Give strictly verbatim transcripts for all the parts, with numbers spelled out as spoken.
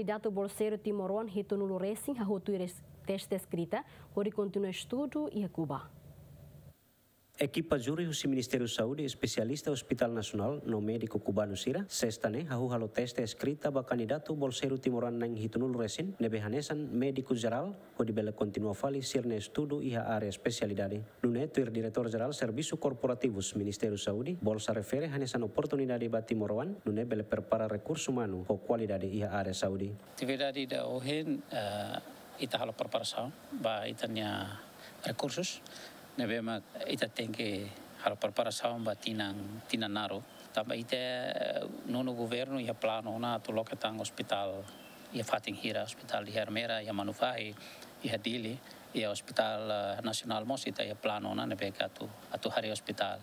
Kandidatu bolseiru timoroan hitunulu resin hahú tuir teste eskrita hodi kontinua estudu iha Kuba. Ekipa júri husi Ministériu Saúde, espesialista Hospitál Nasionál no médiku kubanu sira, sesta ne'e hahú halo teste eskrita ba kandidatu bolseiru timoroan na'in hitunulu resin ne'ebé hanesan médiku jerál, hodi bele kontinua fali sira-nia estudu iha área espesialidade. Nune'e tuir Diretór Jerál Servisu Korporativus Ministériu Saúde, bolsa refere hanesan oportunidade ba timoroan, nune'e bele prepara rekursu umanu ho kualidade iha área saúde. Atividade ida ohin, eh, ita halo preparasaun ba ita-nia rekursus, ne'ebé mak ita tenke halo preparasaun ba tinan, tinan naruk. Tanba ita, eh, nonu governu iha planu ona atu loke tan ospitál iha fatin hira, ospitál iha Ermera, iha Manufahi, iha Dili, iha ospitál, eh, nasionál mós ita iha planu ona ne'ebé atu, atu harii ospitál.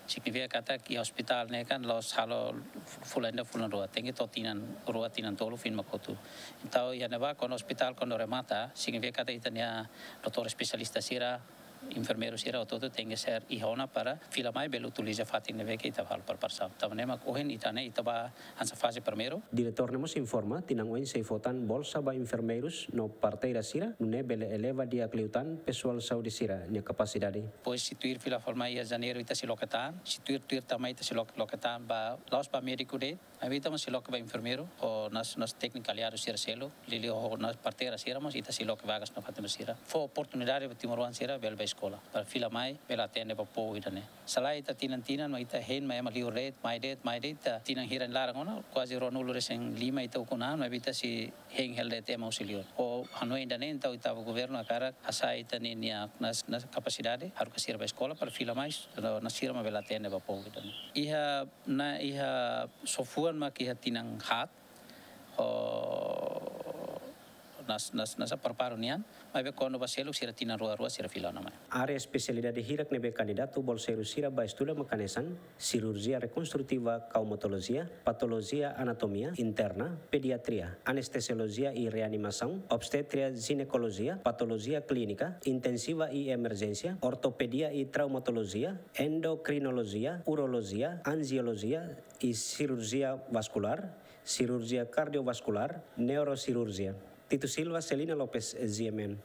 Signifika katak iha ospitál ne'e kan la'ós halo fulan ida fulan rua, tenke to'o tinan rua tinan tolu foin mak hotu. Entaun iha ne'ebá kuandu ospitál kuandu remata, signifika katak ita-nia doutór espesialista sira, enfermeiru sira hotu-hotu tenke ser iha ona para fila mai bele utiliza fatin ne'ebé ke ita halo preparasaun. Tanba ne'e mak ohin ita ne'e ita bá hanesan faze primeiru. Diretór ne'e mós informa, tinan oin sei fó tan bolsa ba enfermeirus no parteira sira, nune'e bele eleva di'ak liután pesoál saúde sira-nia kapasidade. Depois se tuir fila fali mai iha janeiru ita sei loke tan, se tuir, tuir tan mai ita sei loke, loke tan ba, la'ós ba médiku de'it, maibé ita mós sei loke ba enfermeiru, ho nasaun, nasaun tékniku aliadu sira seluk, liuliu ho nasaun parteira sira mós ita sei loke vagas nafatin sira. Fó oportunidade ba timoroan sira bele bá eskola, para fila mai bele atende ba povu ida-ne'e. Se lae ita tinan-tinan mak ita hein mai ema liur de'it, mai de'it, mai de'it, ita tinan hira nia laran ona, kuaze ruanulu resin lima ita ukun an, maibé ita sei hein hela de'it ema husi liur. Ho hanoin ida-ne'e entaun ita-boot governu hakarak hasa'e ita-nia, nia nasaun, nasaun kapasidade, haruka sira bá eskola para fila mai, no nasaun sira mak bele atende ba povu ida-ne'e. Iha, na, iha sofuan mak iha tinan haat, ho nasaun, nasaun, nasaun preparasaun nian, maibé kuandu bá seluk sira tinan rua-rua sira fila ona mai. Área espesialidade hirak ne'ebé kandidatu bolseiru sira bá estuda mak hanesan sirurjia rekonstrutiva kaumatolojia, patolojia anatomia interna, pediatria, anestesiolojia i reanimasaun, obstetria jinekolojia, patolojia klínika intensiva i emerjénsia, ortopedia i traumatolojia, endokrinolojia, urolojia, anjiolojia i sirurjia vaskulár, sirurjia kardiovaskulár, neurosirurjia. Tito Silva, Celina Lopes, G M N.